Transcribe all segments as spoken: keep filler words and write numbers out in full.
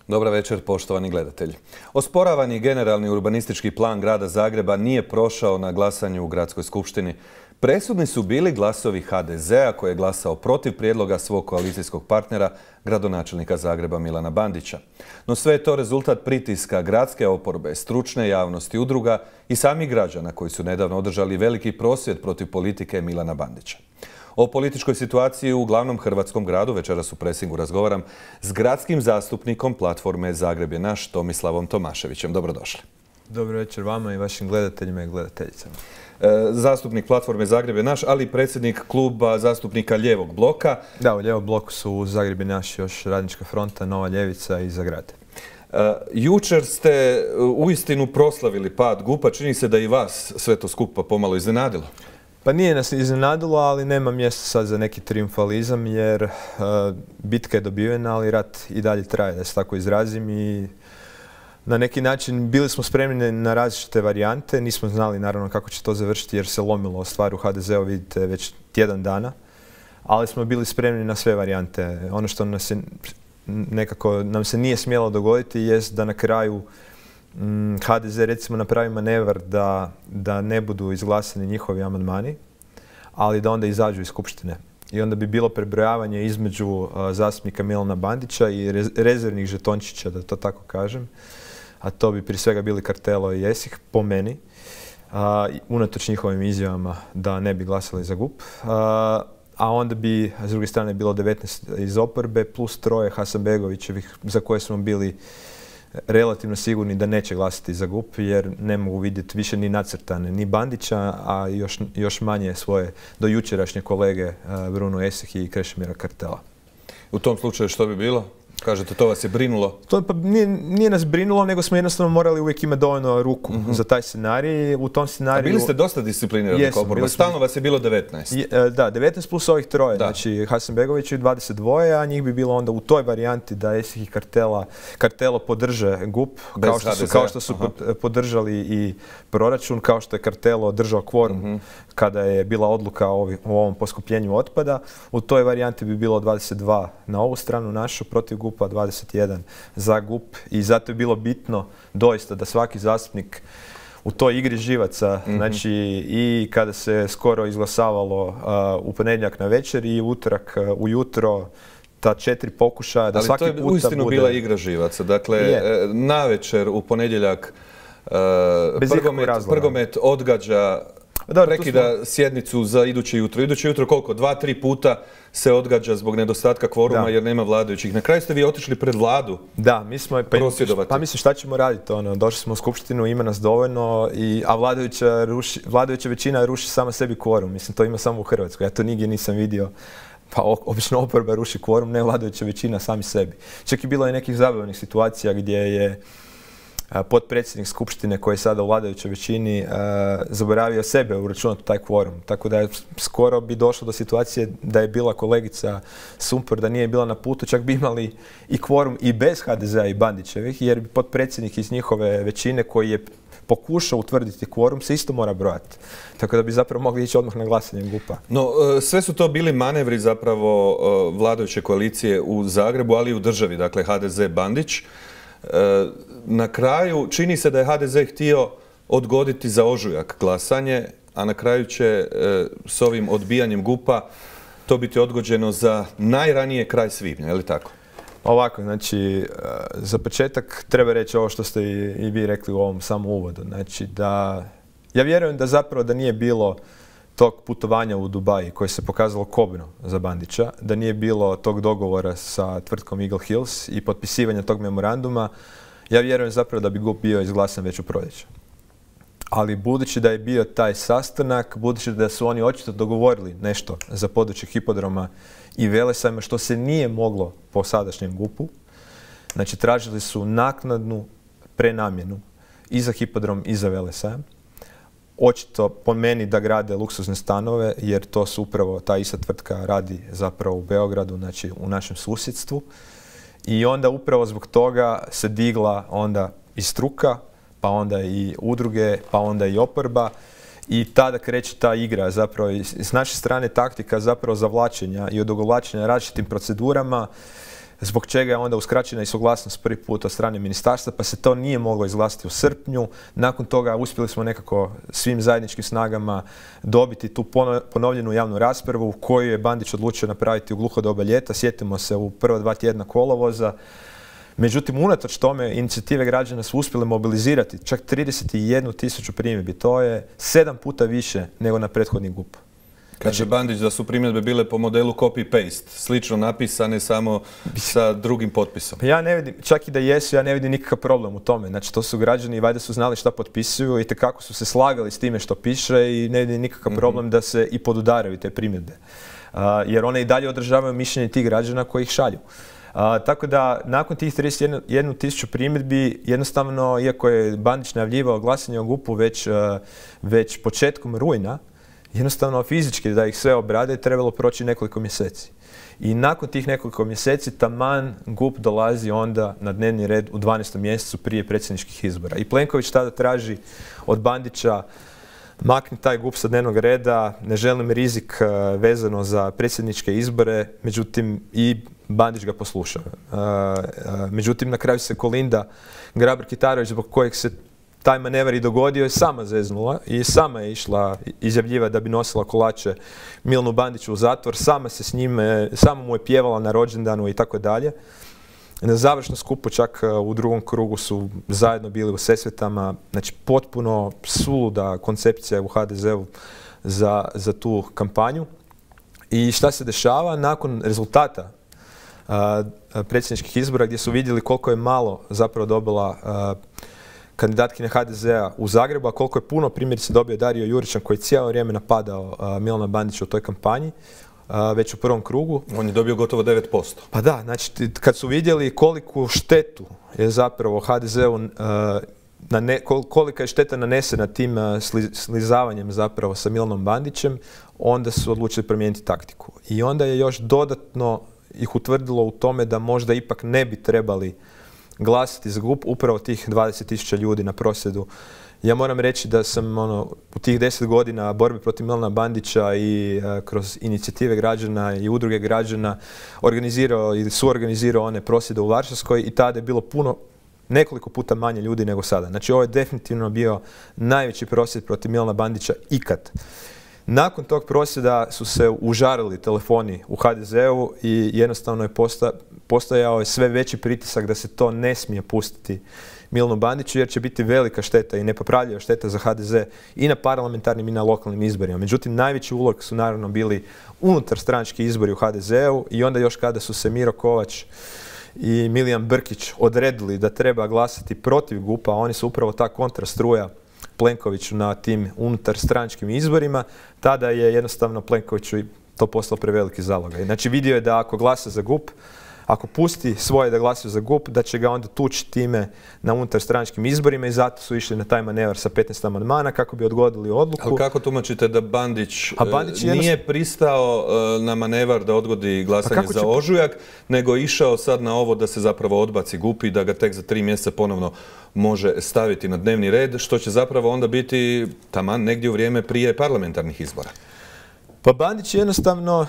Dobar večer, poštovani gledatelji. Osporavani generalni urbanistički plan grada Zagreba nije prošao na glasanju u Gradskoj skupštini. Presudni su bili glasovi ha de zea koji je glasao protiv prijedloga svog koalicijskog partnera, gradonačelnika Zagreba Milana Bandića. No sve je to rezultat pritiska gradske oporbe, stručne javnosti, udruga i samih građana koji su nedavno održali veliki prosvjed protiv politike Milana Bandića. O političkoj situaciji u glavnom hrvatskom gradu večeras u Presingu razgovaram s gradskim zastupnikom platforme Zagreb je naš, Tomislavom Tomaševićem. Dobrodošli. Dobro večer vama i vašim gledateljima i gledateljicama. Zastupnik platforme Zagreb je naš, ali i predsjednik kluba zastupnika Lijevog bloka. Da, u Lijevom bloku su u Zagreb je naš još Radnička fronta, Nova ljevica i Za grad. Uh, jučer ste uistinu proslavili pad GUP-a. Čini se da i vas sve to skupa pomalo iznenadilo. Pa nije nas iznenadilo, ali nema mjesta sad za neki triumfalizam jer uh, bitka je dobivena, ali rat i dalje traje, da se tako izrazim. I na neki način bili smo spremni na različite varijante, nismo znali naravno kako će to završiti jer se lomilo stvar u ha de zeu, vidite, već tjedan dana, ali smo bili spremni na sve varijante. Ono što nas je, nekako nam se nije smjelo dogoditi jest da na kraju mm, ha de ze recimo napravi manevar da, da ne budu izglasani njihovi amandmani, ali da onda izađu iz skupštine. I onda bi bilo prebrojavanje između uh, zastupnika Milana Bandića i rez rezervnih žetončića, da to tako kažem. A to bi prije svega bili Kartelo i Esih, po meni, uh, unatoč njihovim izjavama da ne bi glasali za GUP. Uh, a onda bi, s druge strane, bilo devetnaest iz oporbe plus troje Hasanbegovićevih za koje smo bili relativno sigurni da neće glasati za GUP jer ne mogu vidjeti više ni nacrtane ni Bandića, a još, još manje svoje do jučerašnje kolege uh, Bruno Esih i Krešimira Kartela. U tom slučaju što bi bilo? Kažete, to vas je brinulo? To pa nije, nije nas brinulo, nego smo jednostavno morali uvijek imati dovoljno ruku mm-hmm. za taj scenarij. U tom scenariju... A bili ste dosta disciplinirani kao oporba. Stalno vas je bilo devetnaest. Je, da, devetnaest plus ovih troje. Da. Znači Hasanbegović i dvadeset dva, a njih bi bilo onda u toj varijanti da Esih i Kartela, Kartelo podrže GUP, kao što, su, kao što su Aha. podržali i proračun, kao što je Kartelo držao kvorum mm-hmm. kada je bila odluka o, ovi, o ovom poskupljenju otpada. U toj varijanti bi bilo dvadeset dva na ovu stranu našu protiv GUP-a, dvadeset jedan za GUP i zato je bilo bitno doista da svaki zastupnik u toj igri živaca, mm-hmm. znači i kada se skoro izglasavalo uh, u ponedjeljak na večer i utorak uh, ujutro, ta četiri pokušaja da Ali svaki puta bude... Ali to je uistinu bila igra živaca. Dakle, je. na večer u ponedjeljak uh, Prgomet, Prgomet odgađa Dobro, prekida smo... sjednicu za iduće jutro. Iduće jutro koliko? Dva, tri puta se odgađa zbog nedostatka kvoruma da. jer nema vladajućih. Na kraju ste vi otišli pred vladu da, mi smo, pa, prosvjedovati. Pa mislim šta ćemo raditi? Ono, došli smo u skupštinu, ima nas dovoljno, i, a vladajuća, ruši, vladajuća većina ruši sama sebi kvorum. Mislim, to ima samo u Hrvatskoj. Ja to nigdje nisam vidio. Pa obično oporba ruši kvorum, ne vladajuća većina sami sebi. Čak i bilo je nekih zabavnih situacija gdje je potpredsjednik skupštine koji je sada u vladajućoj većini uh, zaboravio sebe uračunati taj kvorum. Tako da je skoro bi došlo do situacije da je bila kolegica Sumpor, da nije bila na putu, čak bi imali i kvorum i bez ha de zea i Bandićevih, jer bi potpredsjednik iz njihove većine koji je pokušao utvrditi kvorum se isto mora brojati. Tako da bi zapravo mogli ići odmah na glasanje GUP-a. No, sve su to bili manevri zapravo vladajuće koalicije u Zagrebu, ali i u državi, dakle ha de ze Bandić. Na kraju čini se da je ha de ze htio odgoditi za ožujak glasanje, a na kraju će s ovim odbijanjem GUP-a to biti odgođeno za najranije kraj svibnja, je li tako? Ovako, znači, za početak treba reći ovo što ste i vi rekli u ovom samom uvodu. Znači da, ja vjerujem da zapravo da nije bilo tog putovanja u Dubai koje se pokazalo kobno za Bandića, da nije bilo tog dogovora sa tvrtkom Eagle Hills i potpisivanja tog memoranduma, ja vjerujem zapravo da bi GUP bio izglasan već u proljeće. Ali budući da je bio taj sastanak, budući da su oni očito dogovorili nešto za područje hipodroma i Velesajma, što se nije moglo po sadašnjem GUP-u, znači tražili su naknadnu prenamjenu i za hipodrom i za Velesajam. Očito po meni da grade luksuzne stanove, jer to su upravo, ta ista tvrtka radi zapravo u Beogradu, znači u našem susjedstvu. I onda upravo zbog toga se digla onda i struka, pa onda i udruge, pa onda i oporba. I tada kreće ta igra, zapravo s naše strane taktika zapravo zavlačenja i odugovlačenja različitim procedurama zbog čega je onda uskraćena i suglasnost prvi put od strane ministarstva, pa se to nije moglo izglasati u srpnju. Nakon toga uspjeli smo nekako svim zajedničkim snagama dobiti tu ponovljenu javnu raspravu koju je Bandić odlučio napraviti u gluho doba ljeta. Sjetimo se u prva dva tjedna kolovoza. Međutim, unatoč tome, inicijative građana su uspjele mobilizirati čak trideset jednu tisuću primjedbi. To je sedam puta više nego na prethodni G U P. Kaže znači, Bandić da su primjedbe bile po modelu copy-paste, slično napisane samo sa drugim potpisom. Ja ne vidim, čak i da jesu, ja ne vidim nikakav problem u tome. Znači, to su građani, valjda su znali šta potpisuju i tekako su se slagali s time što piše i ne vidim nikakav mm-hmm. problem da se i podudaraju te primjedbe. Uh, jer one i dalje održavaju mišljenje tih građana koji ih šalju. Uh, tako da, nakon tih trideset jednu tisuću primjedbi, jednostavno, iako je Bandić najavljivao glasanje o G U P-u već, uh, već početkom rujna, jednostavno fizički da ih sve obrade trebalo proći nekoliko mjeseci. I nakon tih nekoliko mjeseci taman G U P dolazi onda na dnevni red u dvanaestom mjesecu prije predsjedničkih izbora. I Plenković tada traži od Bandića makni taj G U P sa dnevnog reda, ne želim rizik uh, vezano za predsjedničke izbore, međutim i Bandić ga poslušao. Uh, uh, međutim, na kraju se Kolinda Grabar-Kitarović, zbog kojeg se taj manevar i dogodio, je sama zeznula i sama je išla izjavljiva da bi nosila kolače Milanu Bandiću u zatvor, sama se s njime, sama mu je pjevala na rođendanu i tako dalje. Na završnom skupu čak u drugom krugu su zajedno bili u Sesvetama, znači potpuno suluda koncepcija u ha de zeu za, za tu kampanju. I šta se dešava? Nakon rezultata a, predsjedničkih izbora gdje su vidjeli koliko je malo zapravo dobila a, kandidatkinja ha de zea u Zagrebu, a koliko je puno primjerice dobio Dario Juričan koji je cijelo vrijeme napadao a, Milana Bandića u toj kampanji, a, već u prvom krugu. On je dobio gotovo devet posto. Pa da, znači kad su vidjeli koliku štetu je zapravo ha de zeu, a, na ne, kolika je šteta nanesena tim a, sli, slizavanjem zapravo sa Milanom Bandićem, onda su odlučili promijeniti taktiku. I onda je još dodatno ih utvrdilo u tome da možda ipak ne bi trebali glasati za G U P upravo tih dvadeset tisuća ljudi na prosvjedu. Ja moram reći da sam ono, u tih deset godina borbe protiv Milana Bandića i a, kroz inicijative građana i udruge građana organizirao ili suorganizirao one prosvjede u Varšavskoj i tada je bilo puno, nekoliko puta manje ljudi nego sada. Znači ovo je definitivno bio najveći prosvjed protiv Milana Bandića ikad. Nakon tog prosvjeda su se užarili telefoni u ha de zeu i jednostavno je posta, postojao je sve veći pritisak da se to ne smije pustiti Milanu Bandiću jer će biti velika šteta i nepopravljiva šteta za ha de ze i na parlamentarnim i na lokalnim izborima. Međutim, najveći ulog su naravno bili unutar stranački izbori u ha de zeu i onda još kada su se Miro Kovač i Milijan Brkić odredili da treba glasati protiv G U P-a, oni su upravo ta kontrastruja Plenkoviću na tim unutar stranačkim izborima, tada je jednostavno Plenkoviću to postalo preveliki zalogaj. Znači vidio je da ako glasa za G U P, ako pusti svoje da glasaju za G U P, da će ga onda tući time na unutar stranačkim izborima i zato su išli na taj manevar sa petnaest amandmana kako bi odgodili odluku. Ali kako tumačite da Bandić, A Bandić nije jednostavno... pristao na manevar da odgodi glasanje za će... ožujak, nego išao sad na ovo da se zapravo odbaci G U P i da ga tek za tri mjeseca ponovno može staviti na dnevni red, što će zapravo onda biti taman negdje u vrijeme prije parlamentarnih izbora? Pa Bandić jednostavno uh,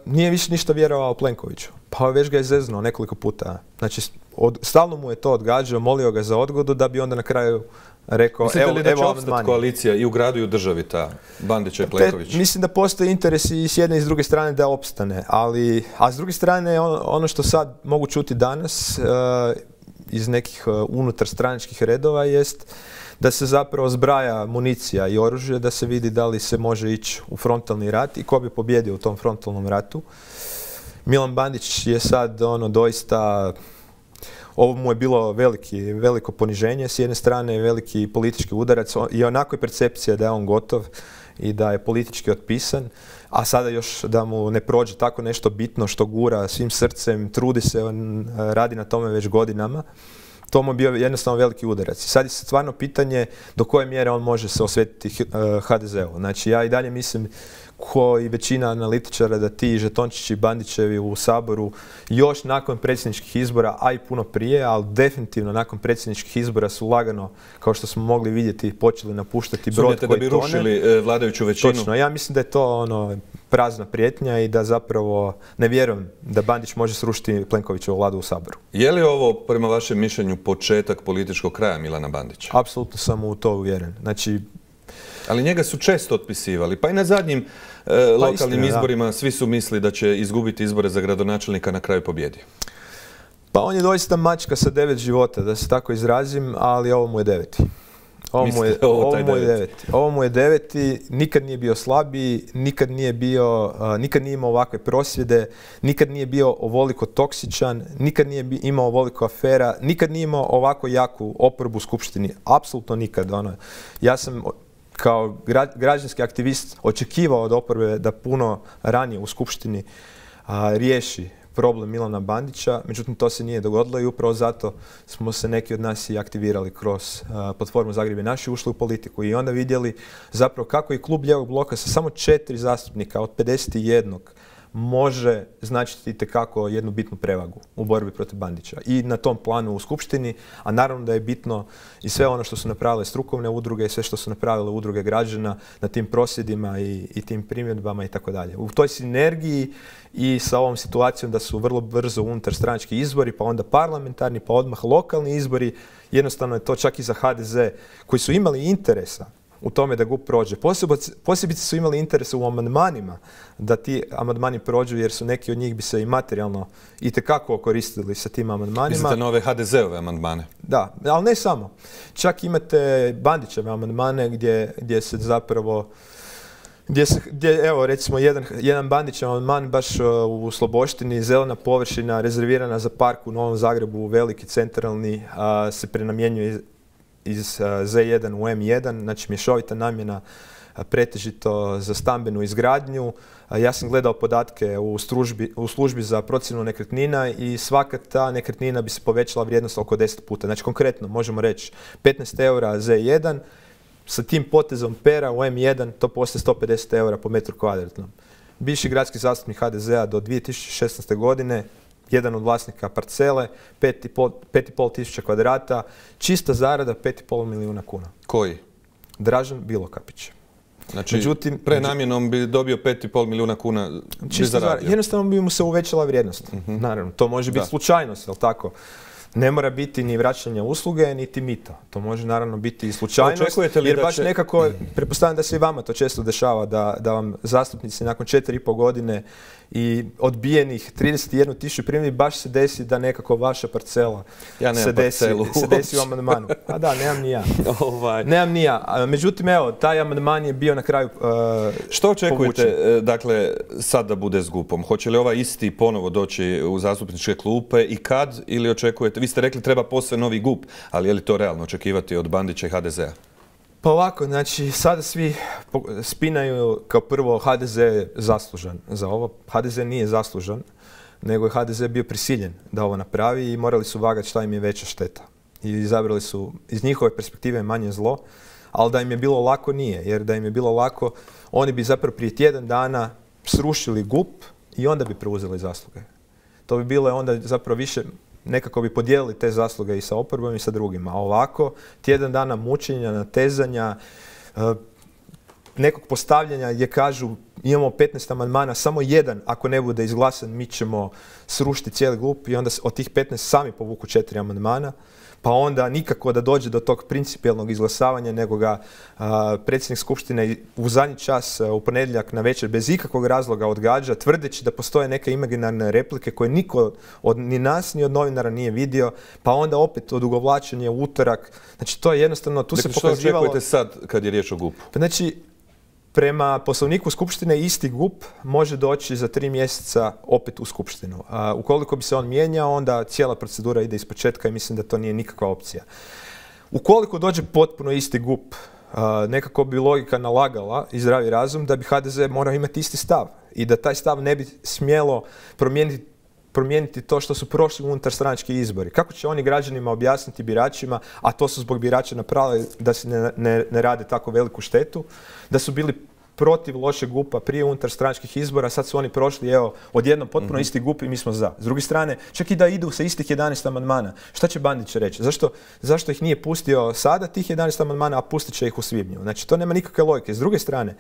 nije više ništa vjerovao Plenkoviću. Pa već ga je zeznuo nekoliko puta. Znači, od, stalno mu je to odgađao, molio ga za odgodu da bi onda na kraju rekao... Mislite evo, li da će evo opstati koalicija i u gradu i u državi ta Bandića i Plenković? Te, mislim da postoji interes i s jedne i s druge strane da opstane. Ali, a s druge strane ono, ono što sad mogu čuti danas uh, iz nekih uh, unutar stranačkih redova jest da se zapravo zbraja municija i oružje, da se vidi da li se može ići u frontalni rat i ko bi pobjedio u tom frontalnom ratu. Milan Bandić je sad ono doista, ovo mu je bilo veliki, veliko poniženje, s jedne strane veliki politički udarac i onako je percepcija da je on gotov i da je politički otpisan, a sada još da mu ne prođe tako nešto bitno što gura svim srcem, trudi se, on radi na tome već godinama. To mu je bio jednostavno veliki udarac. I sad je stvarno pitanje do koje mjere on može se osvetiti ha de zeu. Znači ja i dalje mislim ko i većina analitičara da ti žetončići Bandićevi u Saboru još nakon predsjedničkih izbora, a i puno prije, ali definitivno nakon predsjedničkih izbora su lagano, kao što smo mogli vidjeti, počeli napuštati brod koji tone. Da bi rušili vladajuću većinu? Točno, ja mislim da je to ono prazna prijetnja i da zapravo ne vjerujem da Bandić može srušiti Plenkovićevu vladu u Saboru. Je li ovo, prema vašem mišljenju, početak političkog kraja Milana Bandića? Apsolutno sam u to uvjeren. Znači, ali njega su često otpisivali. Pa i na zadnjim e, lokalnim istina, izborima da. Svi su mislili da će izgubiti izbore za gradonačelnika, na kraju pobjedi. Pa on je doista mačka sa devet života, da se tako izrazim, ali ovo mu je deveti. Ovo mu je, ovo, ovo mu je deveti. Ovo mu je deveti, nikad nije bio slabiji, nikad nije bio, uh, nikad nije imao ovakve prosvjede, nikad nije bio ovoliko toksičan, nikad nije bi, imao ovoliko afera, nikad nije imao ovako jaku oporbu u skupštini. Apsolutno nikad. Ono. Ja sam kao gra, građanski aktivist očekivao od oporbe da puno ranije u skupštini uh, riješi problem Milana Bandića, međutim to se nije dogodilo i upravo zato smo se neki od nas i aktivirali kroz uh, platformu Zagreb je naš i ušli u politiku i onda vidjeli zapravo kako i klub Lijevog bloka sa samo četiri zastupnika od pedeset jedan može značiti itekako jednu bitnu prevagu u borbi protiv Bandića i na tom planu u skupštini, a naravno da je bitno i sve ono što su napravile strukovne udruge i sve što su napravile udruge građana na tim prosvjedima i, i tim primjedbama i tako dalje. U toj sinergiji i sa ovom situacijom da su vrlo brzo unutar stranački izbori, pa onda parlamentarni, pa odmah lokalni izbori, jednostavno je to čak i za ha de ze koji su imali interesa u tome da G U P prođe. Posebice su imali interese u amandmanima da ti amandmani prođu jer su neki od njih bi se i materijalno itekako koristili sa tim amandmanima. Mislite nove ha de ze-ove amandmane? Da, ali ne samo. Čak imate Bandićeve amandmane gdje, gdje se zapravo Gdje, se, gdje evo recimo jedan, jedan Bandićev amandman baš u Sloboštini, zelena površina rezervirana za park u Novom Zagrebu, veliki centralni, a, se prenamjenjuje iz, iz ze jedan u em jedan, znači mješovita namjena pretežito za stambenu izgradnju. A, ja sam gledao podatke u, stružbi, u službi za procjenu nekretnina i svaka ta nekretnina bi se povećala vrijednost oko deset puta. Znači konkretno možemo reći petnaest eura ze jedan, sa tim potezom pera u em jedan to postaje sto pedeset eura po metru kvadratnom. Bivši gradski zastupnik ha de zea do dvije tisuće šesnaeste. godine, jedan od vlasnika parcele, pet i pol tisuća kvadrata, čista zarada pet i pol milijuna kuna. Koji? Dražen Bilokapić. Znači, međutim, prenamjenom bi dobio pet i pol milijuna kuna bi zaradio. Jednostavno bi mu se uvećala vrijednost. Uh-huh. Naravno, to može biti da. slučajnost, jel tako? Ne mora biti ni vraćanje usluge, niti mita. To može naravno biti i slučajnost, jer baš će... nekako, pretpostavljam da se i vama to često dešava, da, da vam zastupnici nakon četiri i pol godine i odbijenih trideset jednu tisuću primjedbi baš se desi da nekako vaša parcela ja se, desi, se desi u amandmanu. A da, nemam ni ja. ovaj. Nemam ni ja. Međutim, evo, taj amandman je bio na kraju uh, Što očekujete, povučen. dakle, sad da bude s G U P-om? Hoće li ovaj isti ponovo doći u zastupničke klupe i kad, ili očekujete? Vi ste rekli treba posve novi G U P, ali je li to realno očekivati od Bandića i ha de zea? Pa ovako, znači sada svi spinaju kao prvo ha de ze je zaslužan za ovo. ha de ze nije zaslužan, nego je ha de ze bio prisiljen da ovo napravi i morali su vagati šta im je veća šteta. I izabrali su iz njihove perspektive manje zlo, ali da im je bilo lako nije, jer da im je bilo lako oni bi zapravo prije tjedan dana srušili G U P i onda bi preuzeli zasluge. To bi bilo onda zapravo više, nekako bi podijelili te zasluge i sa oporbom i sa drugima. A ovako, tjedan dana mučenja, natezanja, nekog postavljanja gdje kažu imamo petnaest amandmana, samo jedan ako ne bude izglasan mi ćemo srušiti cijeli G U P i onda od tih petnaest sami povuku četiri amandmana. Pa onda nikako da dođe do tog principijelnog izglasavanja, nego ga a, predsjednik skupštine u zadnji čas a, u ponedjeljak na večer bez ikakvog razloga odgađa, tvrdeći da postoje neke imaginarne replike koje niko od ni nas ni od novinara nije vidio, pa onda opet odugovlačenje u utorak. Znači to je jednostavno, tu dakle, se pokazivalo... Što očekujete sad kad je riječ o G U P-u? Pa znači, prema poslovniku skupštine isti G U P može doći za tri mjeseca opet u skupštinu. A, ukoliko bi se on mijenjao, onda cijela procedura ide ispočetka i mislim da to nije nikakva opcija. Ukoliko dođe potpuno isti G U P, a, nekako bi logika nalagala i zdravi razum da bi ha de ze morao imati isti stav i da taj stav ne bi smjelo promijeniti promijeniti to što su prošli unutar stranački izbori. Kako će oni građanima objasniti biračima, a to su zbog birača napravili da se ne, ne, ne rade tako veliku štetu, da su bili protiv lošeg G U P-a prije unutar stranačkih izbora, sad su oni prošli, evo, odjednom potpuno mm-hmm. isti G U P i mi smo za. S druge strane, čak i da idu sa istih jedanaest amandmana, šta će Bandić reći? Zašto, zašto ih nije pustio sada tih jedanaest amandmana, a pustit će ih u svibnju? Znači, to nema nikakve logike. S druge strane,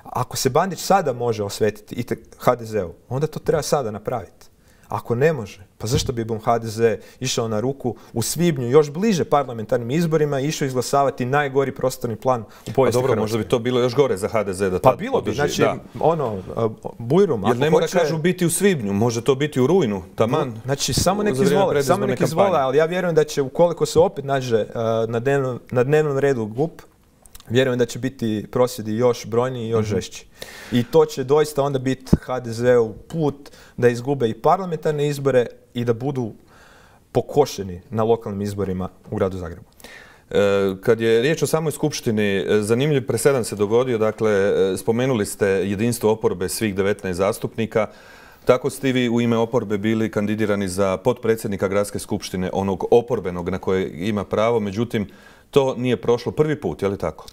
Ako se Bandić sada može osvetiti i ha de zeu, onda to treba sada napraviti. Ako ne može, pa zašto bi bom ha de ze išao na ruku u svibnju, još bliže parlamentarnim izborima, išao izglasavati najgori prostorni plan u povijesti Hrvatske? Dobro, možda bi to bilo još gore za ha de ze da tad Pa bilo bi, podrži, znači, da. ono, Bujrum, Jer ne mora hoće... kažu biti u svibnju, može to biti u rujnu, taman. Znači, samo neki izvole, samo neki izvole, ali ja vjerujem da će, ukoliko se opet nađe uh, na, dnevnom, na dnevnom redu G U P, vjerujem da će biti prosvjedi još brojniji i još mm-hmm. žešći. I to će doista onda biti ha de zeu put da izgube i parlamentarne izbore i da budu pokošeni na lokalnim izborima u gradu Zagrebu. E, kad je riječ o samoj skupštini, zanimljiv presedan se dogodio. Dakle, spomenuli ste jedinstvo oporbe svih devetnaest zastupnika. Tako ste vi u ime oporbe bili kandidirani za potpredsjednika gradske skupštine, onog oporbenog na koje ima pravo. Međutim, to nije prošlo prvi put, je li tako?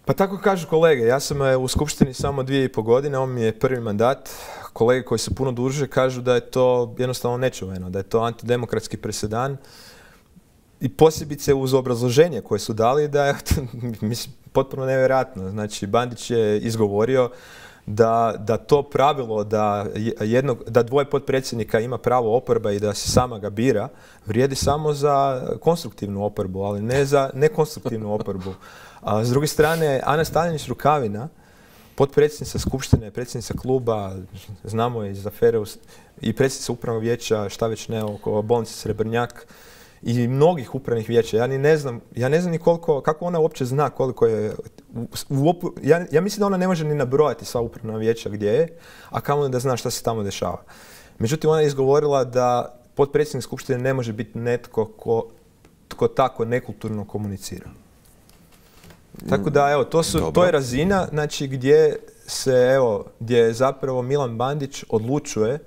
Pa tako kažu kolege. Ja sam u skupštini samo dvije i po godine, on mi je prvi mandat. Kolege koji su puno duže kažu da je to jednostavno nečuveno, da je to antidemokratski presedan. I posebice uz obrazloženje koje su dali da je mislim, potpuno nevjerojatno. Znači, Bandić je izgovorio da, da to pravilo da, jednog, da dvoje potpredsjednika ima pravo oporba i da se sama ga bira, vrijedi samo za konstruktivnu oporbu, ali ne za nekonstruktivnu oporbu. A s druge strane, Ana Stavljenić Rukavina, potpredsjednica skupštine, predsjednica kluba, znamo je iz afere i predsjednica upravnog vijeća, šta već ne, oko bolnice Srebrnjak i mnogih upravnih vijeća. Ja ni ne znam, ja ne znam ni koliko, kako ona uopće zna koliko je, u, u, ja, ja mislim da ona ne može ni nabrojati sva upravna vijeća gdje je, a kamoli da zna šta se tamo dešava. Međutim, ona je izgovorila da potpredsjednik skupštine ne može biti netko ko, tko tako nekulturno komunicira. Tako da, evo, to, su, to je razina, znači, gdje se, evo, gdje zapravo Milan Bandić odlučuje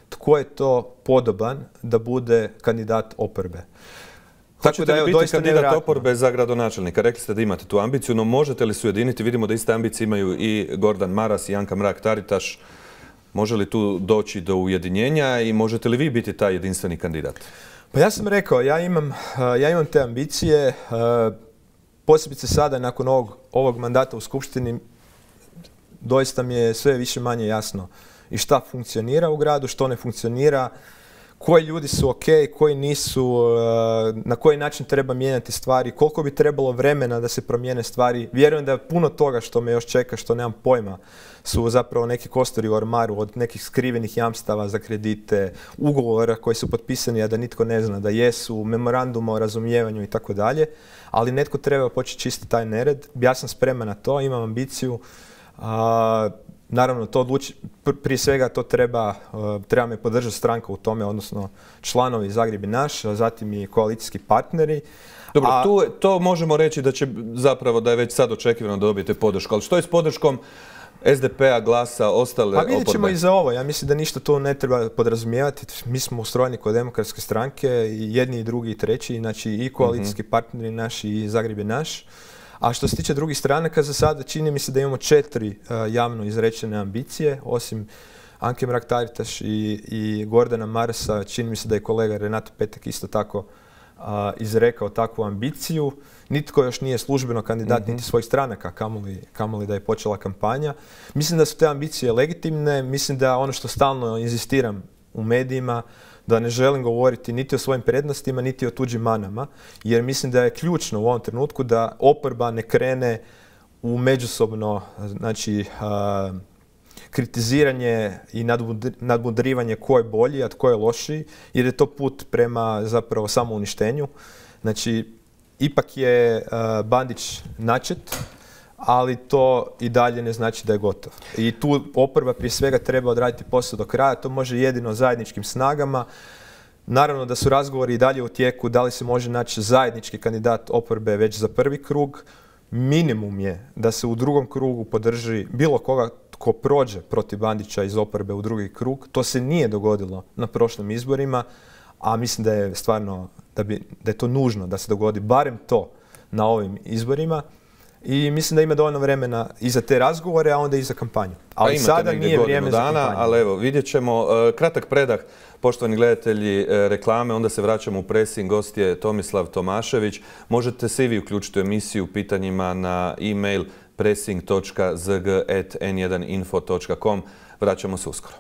tko je to podoban da bude kandidat oporbe. Tako da, evo, biti kandidat oporbe za gradonačelnika? Rekli ste da imate tu ambiciju, no možete li se ujediniti? Vidimo da iste ambicije imaju i Gordan Maras i Anka Mrak-Taritaš. Može li tu doći do ujedinjenja i možete li vi biti taj jedinstveni kandidat? Pa ja sam rekao, ja imam, ja imam te ambicije. Posebice sada, nakon ovog, ovog mandata u Skupštini, doista mi je sve više manje jasno i šta funkcionira u gradu, što ne funkcionira, koji ljudi su ok, koji nisu, na koji način treba mijenjati stvari, koliko bi trebalo vremena da se promijene stvari. Vjerujem da je puno toga što me još čeka, što nemam pojma, su zapravo neki kostori u ormaru, od nekih skrivenih jamstava za kredite, ugovora koji su potpisani, a da nitko ne zna da jesu, memoranduma o razumijevanju i tako dalje. Ali netko treba početi čistiti taj nered. Ja sam spreman na to, imam ambiciju. A, naravno, to odluči, prije svega to treba, treba me podržati stranka u tome, odnosno članovi Zagreb je naš, a zatim i koalicijski partneri. Dobro, a, tu, to možemo reći da će zapravo da je već sad očekivano da dobijete podršku. Ali što je s podrškom es de pe-a, Glasa, ostale oporbe? Pa vidjet ćemo i za ovo. Ja mislim da ništa to ne treba podrazumijevati. Mi smo ustrojeni kod demokratske stranke, i jedni i drugi i treći, znači i koalicijski mm-hmm. partneri naši i Zagreb je naš. A što se tiče drugih stranaka, za sada čini mi se da imamo četiri uh, javno izrečene ambicije, osim Anke Mrak-Taritaš i, i Gordana Marasa. Čini mi se da je kolega Renato Petek isto tako uh, izrekao takvu ambiciju. Nitko još nije službeno kandidat mm-hmm. niti svojih stranaka, kamoli, kamoli da je počela kampanja. Mislim da su te ambicije legitimne, mislim da ono što stalno inzistiram u medijima, da ne želim govoriti niti o svojim prednostima, niti o tuđim manama, jer mislim da je ključno u ovom trenutku da oporba ne krene u međusobno, znači, a, kritiziranje i nadmudrivanje ko je bolji, a tko je lošiji, jer je to put prema zapravo samouništenju. Znači, ipak je uh, Bandić načet, ali to i dalje ne znači da je gotov. I tu oporba prije svega treba odraditi posao do kraja, to može jedino zajedničkim snagama. Naravno da su razgovori i dalje u tijeku, da li se može naći zajednički kandidat oporbe već za prvi krug. Minimum je da se u drugom krugu podrži bilo koga tko prođe protiv Bandića iz oporbe u drugi krug. To se nije dogodilo na prošlim izborima, a mislim da je stvarno da, bi, da je to nužno da se dogodi barem to na ovim izborima. I mislim da ima dovoljno vremena i za te razgovore, a onda i za kampanju. Ali pa sada nije vrijeme dana, za kampanju. Ali evo, vidjet ćemo. Kratak predah, poštovani gledatelji, reklame, onda se vraćamo u presing. Gost je Tomislav Tomašević. Možete se i vi uključiti u emisiju pitanjima na e-mail pressing točka z g at n jedan info točka com. Vraćamo se uskoro.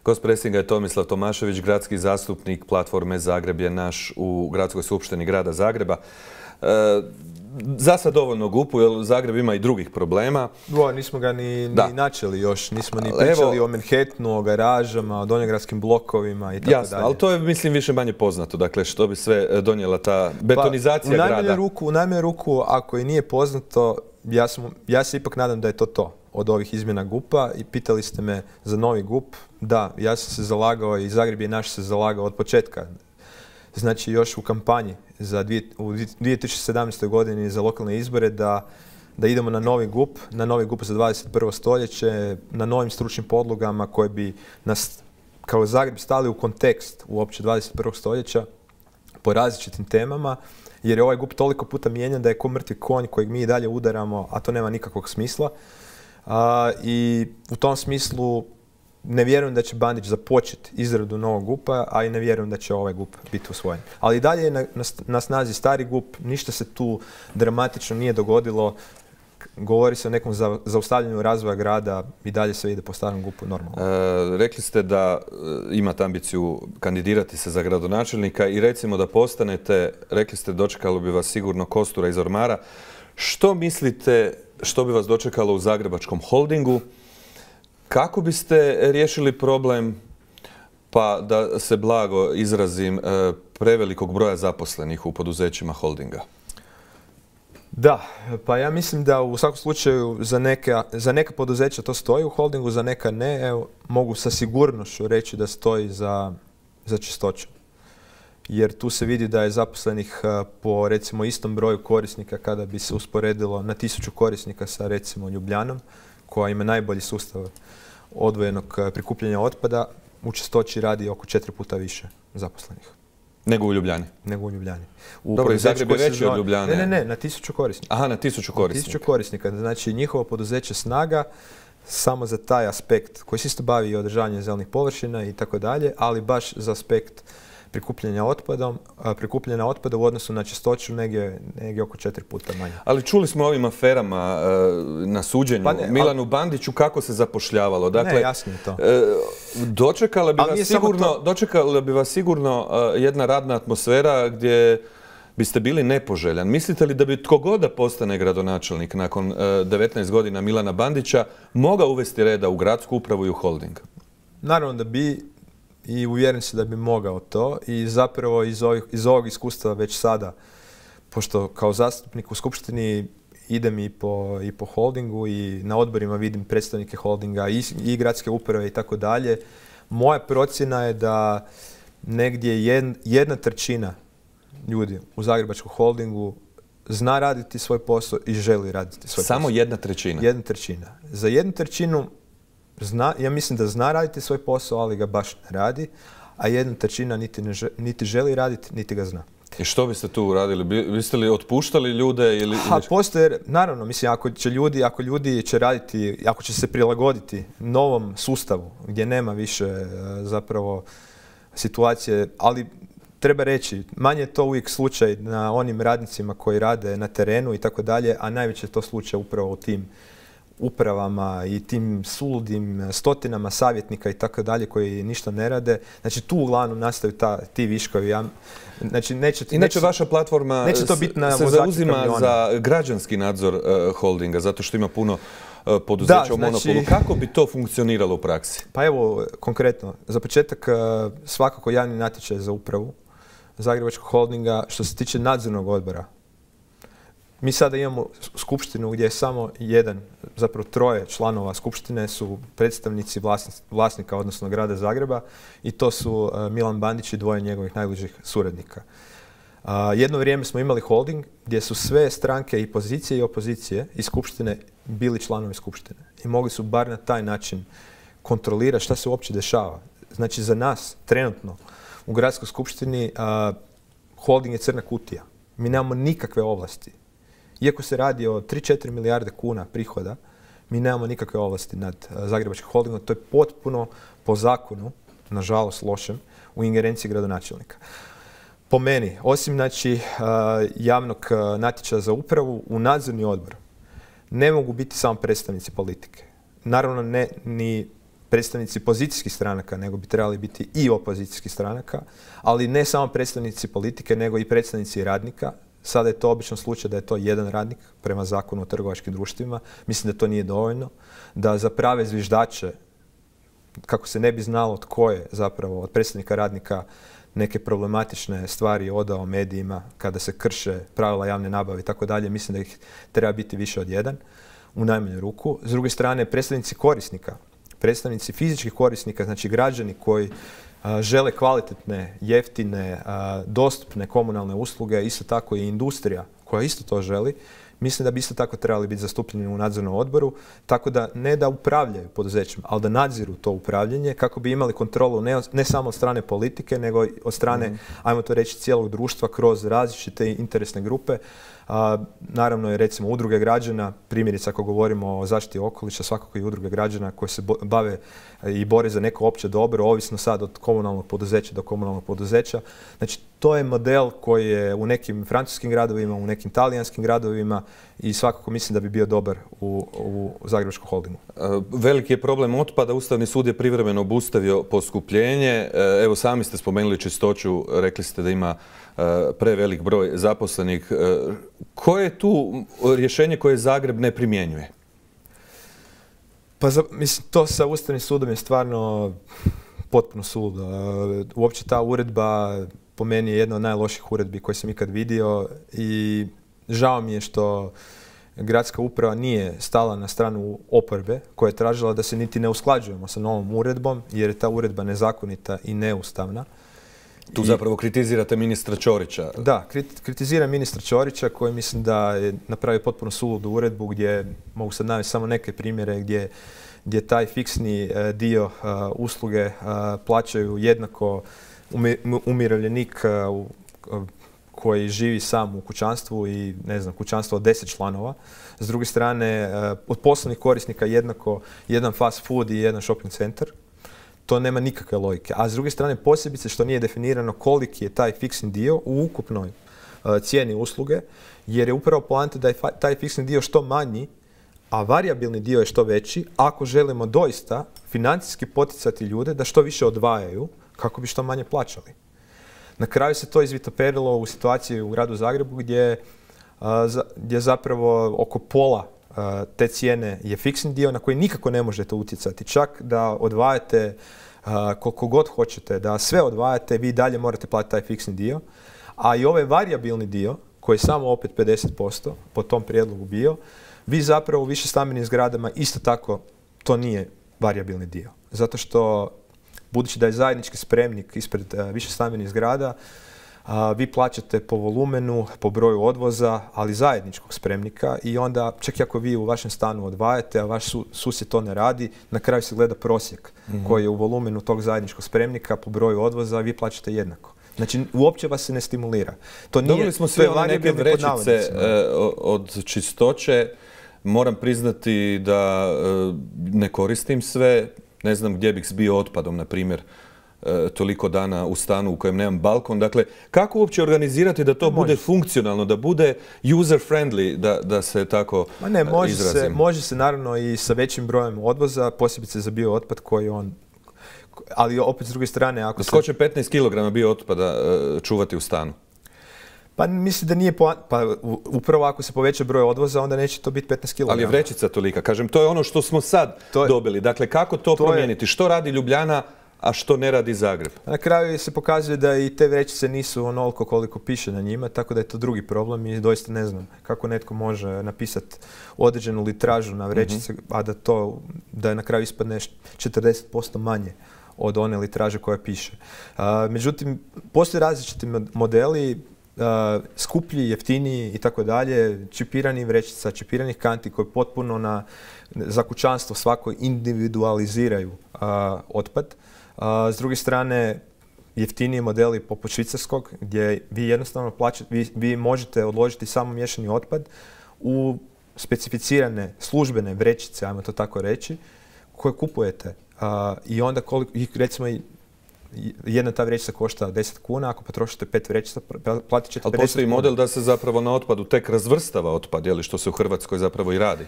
Gost presinga je Tomislav Tomašević, gradski zastupnik Platforme Zagreb je naš u Gradskoj skupštini grada Zagreba. E, za sad dovoljno gupu, jer Zagreb ima i drugih problema. O, nismo ga ni, ni načeli još, nismo ni pričali Evo, o Manhattanu, o garažama, o donjogradskim blokovima i tako jasno, dalje. Ali to je, mislim, više manje poznato, dakle, što bi sve donijela ta betonizacija pa, u grada. Ruku, u najmanju ruku, ako i nije poznato, ja, sam, ja se ipak nadam da je to to od ovih izmjena gupa i pitali ste me za novi gup. Da, ja sam se zalagao i Zagreb je naš se zalagao od početka. Znači još u kampanji za dvije, u dvije tisuće sedamnaestoj godini za lokalne izbore da, da idemo na novi gup, na novi gup za dvadeset prvo stoljeće, na novim stručnim podlogama koje bi nas kao Zagreb stali u kontekst uopće dvadeset prvog stoljeća po različitim temama, jer je ovaj gup toliko puta mijenjan da je ko mrtvi konj kojeg mi i dalje udaramo, a to nema nikakvog smisla. A, I u tom smislu ne vjerujem da će Bandić započeti izradu novog gupa, a i ne vjerujem da će ovaj gup biti usvojen. Ali i dalje je na, na, na snazi stari gup, ništa se tu dramatično nije dogodilo. Govori se o nekom za, zaustavljanju razvoja grada i dalje se ide po starom gupu normalno. E, rekli ste da e, imate ambiciju kandidirati se za gradonačelnika i recimo da postanete, rekli ste dočekalo bi vas sigurno kostura iz ormara. Što mislite što bi vas dočekalo u Zagrebačkom holdingu? Kako biste riješili problem, pa da se blago izrazim, prevelikog broja zaposlenih u poduzećima holdinga? Da, pa ja mislim da u svakom slučaju za neka, za neka poduzeća to stoji u holdingu, za neka ne. Evo, mogu sa sigurnošću reći da stoji za, za Čistoću. Jer tu se vidi da je zaposlenih po recimo istom broju korisnika kada bi se usporedilo na tisuću korisnika sa recimo Ljubljanom, koja ima najbolji sustav odvojenog prikupljanja otpada, u Čistoći radi oko četiri puta više zaposlenih. Nego u Ljubljani? Nego u Ljubljani. U Dobro, i Zagreb je veći od Ljubljane. Ne, ne, ne, na tisuću korisnika. Aha, na tisuću korisnika. Na tisuću korisnika. Znači, njihovo poduzeće Snaga samo za taj aspekt koji se isto bavi i održavanjem zelenih površina i tako dalje, ali baš za aspekt prikupljanja otpadom, prikupljanja otpada u odnosu na Čistoću negdje, negdje oko četiri puta manje. Ali čuli smo o ovim aferama e, na suđenju pa ne, Milanu ali, Bandiću kako se zapošljavalo. Dakle, ne, jasno je to. E, dočekala bi vas sigurno, dočekala bi vas sigurno e, jedna radna atmosfera gdje biste bili nepoželjan. Mislite li da bi tko god da postane gradonačelnik nakon e, devetnaest godina Milana Bandića mogao uvesti reda u gradsku upravu i u holding? Naravno da bi. I uvjeren se da bi mogao to i zapravo iz, ovih, iz ovog iskustva već sada, pošto kao zastupnik u Skupštini idem i po, i po holdingu i na odborima vidim predstavnike holdinga i, i gradske uprave i tako dalje, moja procjena je da negdje jedna, jedna trećina ljudi u Zagrebačkom holdingu zna raditi svoj posao i želi raditi svoj Samo posao. Samo jedna trećina? Jedna trećina. Za jednu trećinu Zna, ja mislim da zna raditi svoj posao, ali ga baš ne radi, a jedna trećina niti, ne želi, niti želi raditi, niti ga zna. I što biste tu radili? Biste li otpuštali ljude? Ili... A postoje, naravno, mislim, ako će ljudi, ako ljudi će raditi, ako će se prilagoditi novom sustavu gdje nema više zapravo situacije, ali treba reći, manje je to uvijek slučaj na onim radnicima koji rade na terenu i tako dalje, a najveće je to slučaj upravo u tim upravama i tim suludim stotinama savjetnika i tako dalje koji ništa ne rade. Znači tu uglavnom nastaju ta, ti viškovi. Ja, znači, neće, Inače neće, vaša platforma neće to biti na se zauzima kamiona. Za građanski nadzor uh, holdinga, zato što ima puno uh, poduzeća da, u monopolu. Znači, kako bi to funkcioniralo u praksi? Pa evo, konkretno, za početak uh, svakako javni natječaj za upravu Zagrebačkog holdinga što se tiče nadzornog odbora. Mi sada imamo skupštinu gdje je samo jedan, zapravo troje članova skupštine su predstavnici vlasnika, odnosno grada Zagreba i to su Milan Bandić i dvoje njegovih najbližih suradnika. Jedno vrijeme smo imali holding gdje su sve stranke i pozicije i opozicije iz skupštine bili članovi skupštine i mogli su bar na taj način kontrolirati šta se uopće dešava. Znači za nas trenutno u Gradskoj skupštini uh, holding je crna kutija. Mi nemamo nikakve ovlasti. Iako se radi o tri do četiri milijarde kuna prihoda, mi nemamo nikakve ovlasti nad uh, Zagrebačkim holdingom. To je potpuno po zakonu, nažalost lošem, u ingerenciji gradonačelnika. Po meni, osim znači, uh, javnog uh, natječaja za upravu, u nadzorni odbor ne mogu biti samo predstavnici politike. Naravno ne ni predstavnici pozicijskih stranaka, nego bi trebali biti i opozicijskih stranaka, ali ne samo predstavnici politike, nego i predstavnici radnika. Sada je to obično slučaj da je to jedan radnik prema zakonu o trgovačkim društvima. Mislim da to nije dovoljno. Da za prave zviždače, kako se ne bi znalo tko je zapravo od predstavnika radnika neke problematične stvari odao medijima kada se krše pravila javne nabave i tako dalje, mislim da ih treba biti više od jedan, u najmanju ruku. S druge strane, predstavnici korisnika, predstavnici fizičkih korisnika, znači građani koji a, žele kvalitetne, jeftine, a, dostupne komunalne usluge, isto tako i industrija koja isto to želi, mislim da bi isto tako trebali biti zastupljeni u nadzornom odboru, tako da ne da upravljaju poduzećem, ali da nadziru to upravljanje kako bi imali kontrolu ne, ne samo od strane politike, nego od strane, mm. ajmo to reći, cijelog društva kroz različite interesne grupe. A, naravno je recimo udruge građana, primjerice ako govorimo o zaštiti okoliša, svakako i udruge građana koje se bave i bore za neko opće dobro, ovisno sad od komunalnog poduzeća do komunalnog poduzeća. Znači to je model koji je u nekim francuskim gradovima, u nekim talijanskim gradovima i svakako mislim da bi bio dobar u, u Zagrebačkom holdingu. Veliki je problem otpada. Ustavni sud je privremeno obustavio poskupljenje. Evo sami ste spomenuli čistoću, rekli ste da ima prevelik broj zaposlenih. Koje je tu rješenje koje Zagreb ne primjenjuje? Pa za, mislim, to sa Ustavnim sudom je stvarno potpuno suludo. Uopće ta uredba po meni je jedna od najloših uredbi koje sam ikad vidio i žao mi je što gradska uprava nije stala na stranu oporbe koja je tražila da se niti ne usklađujemo sa novom uredbom jer je ta uredba nezakonita i neustavna. Tu zapravo kritizirate ministra Ćorića. Da, kritiziram ministra Ćorića koji mislim da je napravio potpuno suludu uredbu gdje, mogu sad navesti samo neke primjere, gdje, gdje taj fiksni dio usluge plaćaju jednako umirovljenik koji živi sam u kućanstvu i ne znam, kućanstvo od deset članova. S druge strane, od poslovnih korisnika jednako jedan fast food i jedan shopping centar. To nema nikakve logike. A s druge strane, posebice što nije definirano koliki je taj fiksni dio u ukupnoj uh, cijeni usluge, jer je upravo poanta da je taj fiksni dio što manji, a varijabilni dio je što veći, ako želimo doista financijski poticati ljude da što više odvajaju kako bi što manje plaćali. Na kraju se to izvitoperilo u situaciji u gradu Zagrebu gdje, uh, za, gdje zapravo oko pola uh, te cijene je fiksni dio na koji nikako ne možete utjecati. Čak da odvajate uh, koliko god hoćete, da sve odvajate, vi dalje morate platiti taj fiksni dio. A i ovaj varijabilni dio, koji je samo opet pedeset posto po tom prijedlogu bio, vi zapravo u višestambenim zgradama isto tako to nije varijabilni dio. Zato što budući da je zajednički spremnik ispred uh, višestambenih zgrada, uh, vi plaćate po volumenu, po broju odvoza, ali zajedničkog spremnika i onda čak i ako vi u vašem stanu odvajate, a vaš su, susjed to ne radi, na kraju se gleda prosjek mm-hmm. koji je u volumenu tog zajedničkog spremnika po broju odvoza, a vi plaćate jednako. Znači, uopće vas se ne stimulira. To nije, dobili smo sve one neke vrećice od čistoće. Moram priznati da ne koristim sve. Ne znam gdje bih zbio otpadom, na primjer, toliko dana u stanu u kojem nemam balkon. Dakle, kako uopće organizirati da to može. bude funkcionalno, da bude user friendly, da, da se tako Ma ne, može izrazim? Se, može se naravno i sa većim brojem odvoza, posebice za bio otpad koji on... Ali opet s druge strane, ako se... Tko će petnaest kilograma bio otpada čuvati u stanu? Pa mislim da nije po... Pa upravo ako se poveća broj odvoza, onda neće to biti petnaest kilograma. Ali je vrećica tolika. Kažem, to je ono što smo sad je, dobili. Dakle, kako to, to promijeniti? Je... Što radi Ljubljana, a što ne radi Zagreb? Na kraju se pokazuje da i te vrećice nisu onoliko koliko piše na njima, tako da je to drugi problem i doista ne znam kako netko može napisati određenu litražu na vrećice, mm-hmm. a da to, da na kraju ispadne četrdeset posto manje od one litraže koja piše. Uh, međutim, postoje različiti modeli, uh, skuplji, jeftiniji i tako dalje, čipirani vrećica, čipiranih kanti koji potpuno na, za kućanstvo svako individualiziraju uh, otpad. S druge strane, jeftiniji modeli poput švicarskog, gdje vi jednostavno plaćate, vi, vi možete odložiti samo miješani otpad u specificirane službene vrećice, ajmo to tako reći, koje kupujete. I onda koliko, recimo, jedna ta vrećica košta deset kuna, ako potrošite pet vrećica, platit ćete pedeset kuna. Ali postoji model da se zapravo na otpadu tek razvrstava otpad, je li, što se u Hrvatskoj zapravo i radi?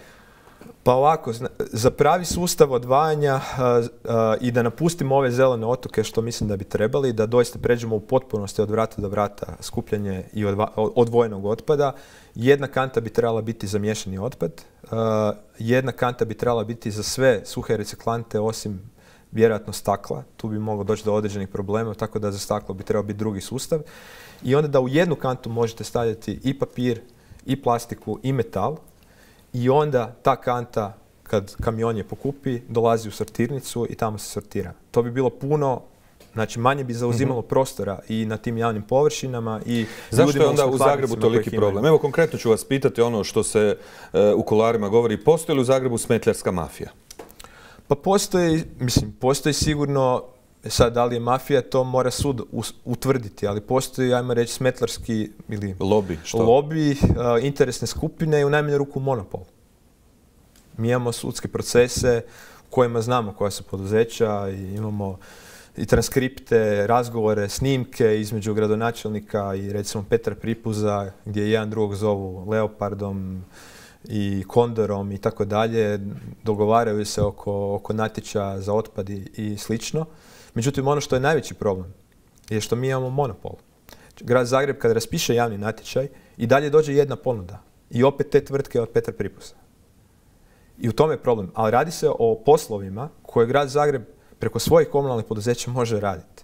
Pa ovako, za pravi sustav odvajanja uh, uh, i da napustimo ove zelene otoke, što mislim da bi trebali, da doista pređemo u potpunosti od vrata do vrata skupljanje i odva, odvojenog otpada, jedna kanta bi trebala biti za miješani otpad, uh, jedna kanta bi trebala biti za sve suhe reciklante osim vjerojatno stakla. Tu bi moglo doći do određenih problema, tako da za staklo bi trebao biti drugi sustav. I onda da u jednu kantu možete stavljati i papir, i plastiku, i metal. I onda ta kanta, kad kamion je pokupi, dolazi u sortirnicu i tamo se sortira. To bi bilo puno, znači manje bi zauzimalo mm-hmm. prostora i na tim javnim površinama i zašto je onda u Zagrebu toliki problem? Evo, konkretno ću vas pitati ono što se uh, u kuloarima govori. Postoji li u Zagrebu smetljarska mafija? Pa postoji, mislim, postoji sigurno, sad da li je mafija, to mora sud utvrditi, ali postoji, ajmo reći, smetlarski ili lobby, što? lobby, uh, interesne skupine i u najmanju ruku monopol. Mi imamo sudske procese u kojima znamo koja su poduzeća i imamo i transkripte, razgovore, snimke između gradonačelnika i recimo Petra Pripuza, gdje jedan drugog zovu Leopardom i Kondorom i tako dalje, dogovaraju se oko, oko natječaja za otpad i, i slično. Međutim, ono što je najveći problem je što mi imamo monopol. Grad Zagreb kad raspiše javni natječaj i dalje dođe jedna ponuda i opet te tvrtke od Petra Pripuza. I u tome je problem. Ali radi se o poslovima koje Grad Zagreb preko svojih komunalnih poduzeća može raditi.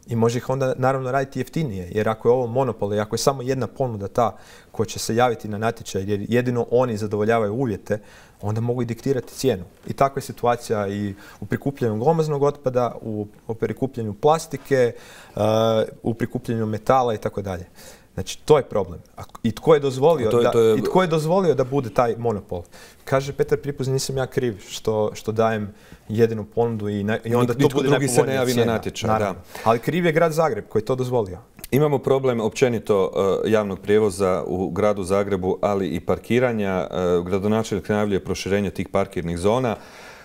I može ih onda naravno raditi jeftinije, jer ako je ovo monopol i ako je samo jedna ponuda ta koja će se javiti na natječaj jer jedino oni zadovoljavaju uvjete, onda mogu i diktirati cijenu. I takva je situacija i u prikupljanju glomaznog otpada, u, u prikupljanju plastike, uh, u prikupljanju metala i tako dalje. Znači, to je problem. I tko je dozvolio, to je, to je... Da, i tko je dozvolio da bude taj monopol? Kaže Petar Pripuz, nisam ja kriv što, što dajem jedinu ponudu i, na, i onda to bude drugi se ne javi na natječaj. Da. Ali kriv je Grad Zagreb koji je to dozvolio. Imamo problem općenito uh, javnog prijevoza u gradu Zagrebu, ali i parkiranja. Uh, gradonačelnik najavljuje proširenje tih parkirnih zona,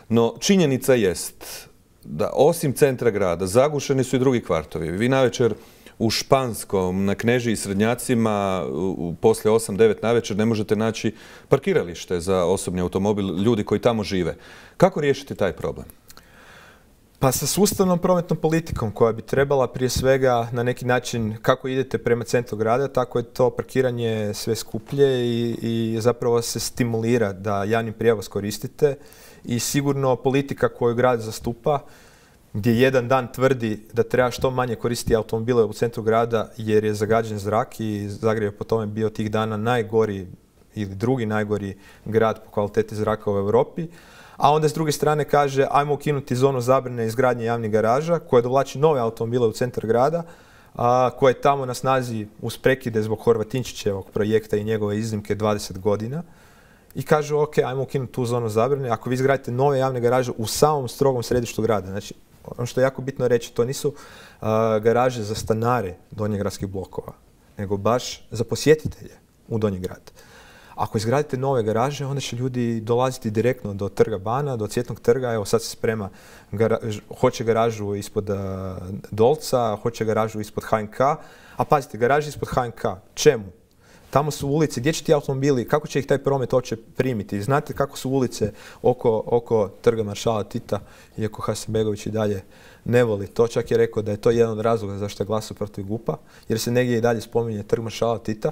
no činjenica jest da osim centra grada zagušeni su i drugi kvartovi. Vi navečer u Španskom, na Knežiji i Srednjacima, u, poslije osam devet navečer ne možete naći parkiralište za osobni automobil ljudi koji tamo žive. Kako riješiti taj problem? Pa sa sustavnom prometnom politikom koja bi trebala prije svega na neki način, kako idete prema centru grada, tako je to parkiranje sve skuplje i, i zapravo se stimulira da javni prijevoz koristite i sigurno politika koju grad zastupa, gdje jedan dan tvrdi da treba što manje koristiti automobile u centru grada jer je zagađen zrak i Zagreb je po tome bio tih dana najgori ili drugi najgori grad po kvaliteti zraka u Europi. A onda s druge strane kaže ajmo ukinuti zonu zabrane izgradnje javnih garaža koja dovlači nove automobile u centar grada, a, koje je tamo na snazi uz prekide zbog Horvatinčićevog projekta i njegove iznimke dvadeset godina. I kažu ok, ajmo ukinuti tu zonu zabrane ako vi izgradite nove javne garaže u samom strogom središtu grada. Znači, ono što je jako bitno reći, to nisu uh, garaže za stanare donjegradskih blokova, nego baš za posjetitelje u Donji grad. Ako izgradite nove garaže, onda će ljudi dolaziti direktno do Trga Bana, do Cvjetnog trga. Evo sad se sprema, garaž, hoće garažu ispod uh, Dolca, hoće garažu ispod H N K. A pazite, garaže ispod H N K, čemu? Tamo su ulice, gdje će ti automobili, kako će ih taj promet uopće primiti? Znate kako su ulice oko, oko Trga maršala Tita, iako Hasanbegović i dalje ne voli to. Čak je rekao da je to jedan od razloga zašto je glasao protiv G U P-a, jer se negdje i dalje spominje Trg maršala Tita.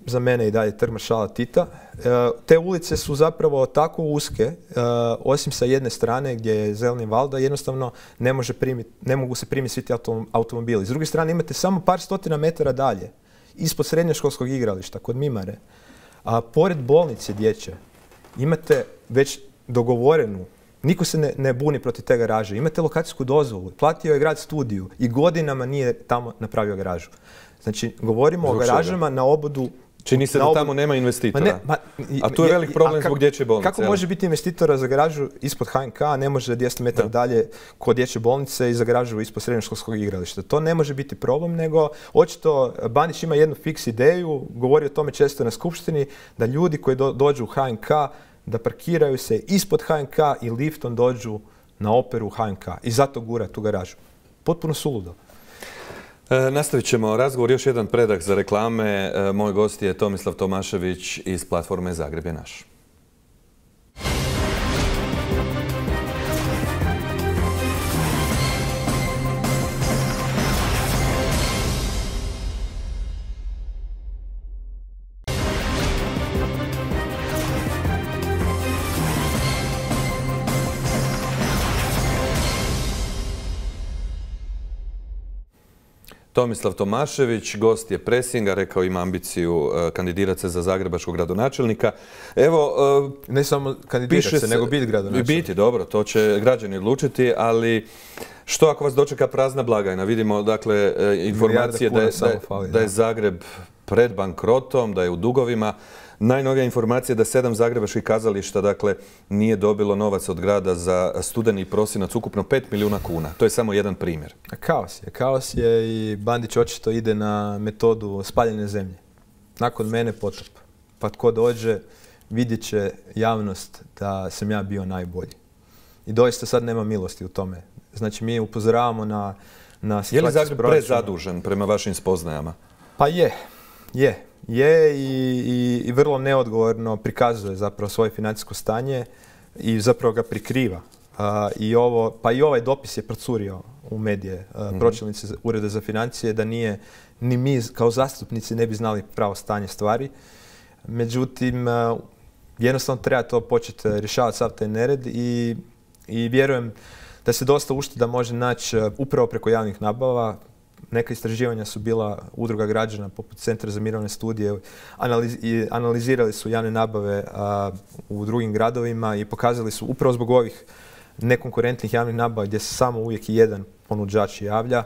Za mene i dalje Trg maršala Tita. E, te ulice su zapravo tako uske, e, osim sa jedne strane gdje je zeleni val, da jednostavno ne, može primiti, ne mogu se primiti svi ti automobili. S druge strane imate samo par stotina metara dalje, ispod srednjoškolskog igrališta, kod Mimare, a pored bolnice dječje, imate već dogovorenu, niko se ne, ne buni protiv te garaže, imate lokacijsku dozvolu, platio je grad studiju i godinama nije tamo napravio garažu. Znači, govorimo Zbog o garažama čega? Na obodu Čini se da ob... tamo nema investitora. Ma ne, ma, a tu je velik problem zbog dječje bolnice. Kako može biti investitora za garažu ispod H N K, a ne može dvjesto metara dalje kod dječje bolnice i za garažu ispod srednjoškolskog igrališta? To ne može biti problem, nego očito Bandić ima jednu fiks ideju, govori o tome često na skupštini, da ljudi koji do, dođu u H N K, da parkiraju se ispod H N K i liftom dođu na operu H N K. I zato gura tu garažu. Potpuno suludo. E, nastavit ćemo razgovor, još jedan predah za reklame. E, moj gost je Tomislav Tomašević iz platforme Zagreb je naš. Tomislav Tomašević, gost je Pressinga, rekao ima ambiciju uh, kandidirati se za zagrebačkog gradonačelnika. Evo, uh, ne samo kandidirati se, nego biti gradonačelnik. Biti, dobro, to će građani odlučiti, ali što ako vas dočeka prazna blagajna? Vidimo, dakle, informacije da je, da, je, fali, da je Zagreb pred bankrotom, da je u dugovima. Najnovija informacija je da sedam zagrebačkih kazališta, dakle, nije dobilo novac od grada za studeni i prosinac, ukupno pet milijuna kuna. To je samo jedan primjer. Kaos je. Kaos je i Bandić očito ide na metodu spaljene zemlje. Nakon mene potop. Pa tko dođe, vidjet će javnost da sam ja bio najbolji. I doista sad nema milosti u tome. Znači, mi upozoravamo na, na situaciju. Je li Zagreb prezadužen prema vašim spoznajama? Pa je. Je. Je i, i, i vrlo neodgovorno prikazuje zapravo svoje financijsko stanje i zapravo ga prikriva. A, i ovo, pa i ovaj dopis je procurio u medije, a, mm-hmm. pročelnici Ureda za financije, da nije, ni mi kao zastupnici ne bi znali pravo stanje stvari. Međutim, a, jednostavno treba to početi rješavati sav taj nered i, i vjerujem da se dosta ušteda može naći upravo preko javnih nabava. Neka istraživanja su bila udruga građana poput Centra za mirovne studije, analiz, i analizirali su javne nabave a, u drugim gradovima i pokazali su upravo zbog ovih nekonkurentnih javnih nabava gdje se samo uvijek jedan ponuđač javlja,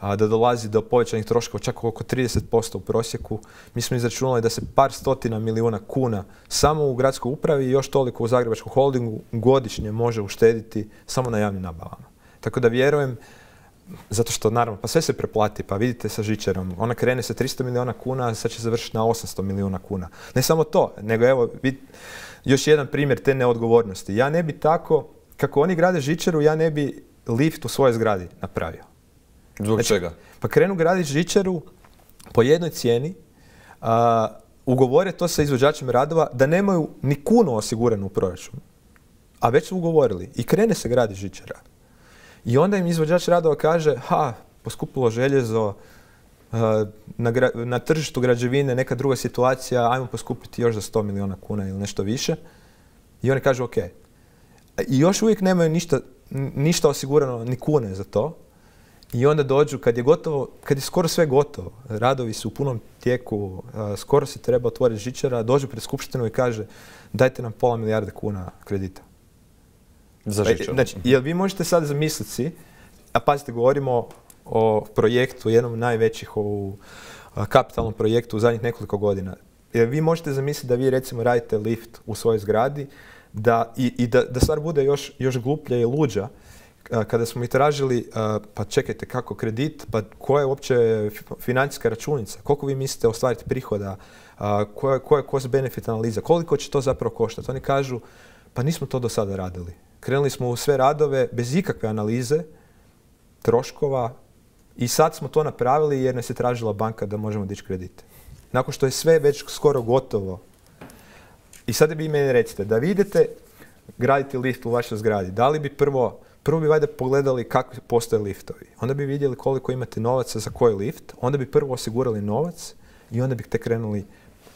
a, da dolazi do povećanih troškova čak oko trideset posto u prosjeku. Mi smo izračunali da se par stotina milijuna kuna samo u gradskoj upravi i još toliko u Zagrebačkom holdingu godišnje može uštediti samo na javnim nabavama. Tako da vjerujem, zato što naravno, pa sve se preplati, pa vidite sa žičarom, ona krene sa tristo milijuna kuna, a sad će završiti na osamsto milijuna kuna. Ne samo to, nego evo, vid, još jedan primjer te neodgovornosti. Ja ne bi tako, kako oni grade žičaru, ja ne bi lift u svojoj zgradi napravio. Zbog znači, čega? Pa krenu graditi žičaru po jednoj cijeni, a, ugovore to sa izvođačem radova da nemaju ni kunu osiguranu u proračunu, a već su ugovorili i krene se graditi žičara. I onda im izvođač radova kaže, ha, poskupilo željezo, na, na tržištu građevine neka druga situacija, ajmo poskupiti još za sto milijuna kuna ili nešto više. I oni kažu, ok. I još uvijek nemaju ništa, ništa osigurano, ni kune za to. I onda dođu, kad je gotovo, kad je skoro sve gotovo, radovi su u punom tijeku, skoro se treba otvoriti žičara, dođu pred skupštinu i kaže, dajte nam pola milijarde kuna kredita. Za žičaru. Znači, jel vi možete sad zamisliti si, a pazite, govorimo o projektu, jednom od najvećih u kapitalnom projektu u zadnjih nekoliko godina. Jel vi možete zamisliti da vi recimo radite lift u svojoj zgradi da, i, i da, da stvar bude još, još gluplja i luđa, kada smo ih tražili, pa čekajte kako kredit, pa koja je uopće financijska računica, koliko vi mislite ostvariti prihoda, koja, koja je cost benefit analiza, koliko će to zapravo koštati. Oni kažu, pa nismo to do sada radili. Krenuli smo u sve radove bez ikakve analize, troškova i sad smo to napravili jer nas je tražila banka da možemo dići kredite. Nakon što je sve već skoro gotovo. I sada bi meni recite, da vi idete graditi lift u vašoj zgradi, da li bi prvo, prvo bi valjda pogledali kako postoje liftovi. Onda bi vidjeli koliko imate novaca za koji lift, onda bi prvo osigurali novac i onda bi te krenuli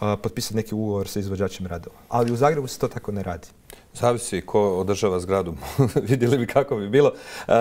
uh, potpisati neki ugovor sa izvođačem radova. Ali u Zagrebu se to tako ne radi. Zavisi ko održava zgradu. Vidjeli bi kako bi bilo. Uh,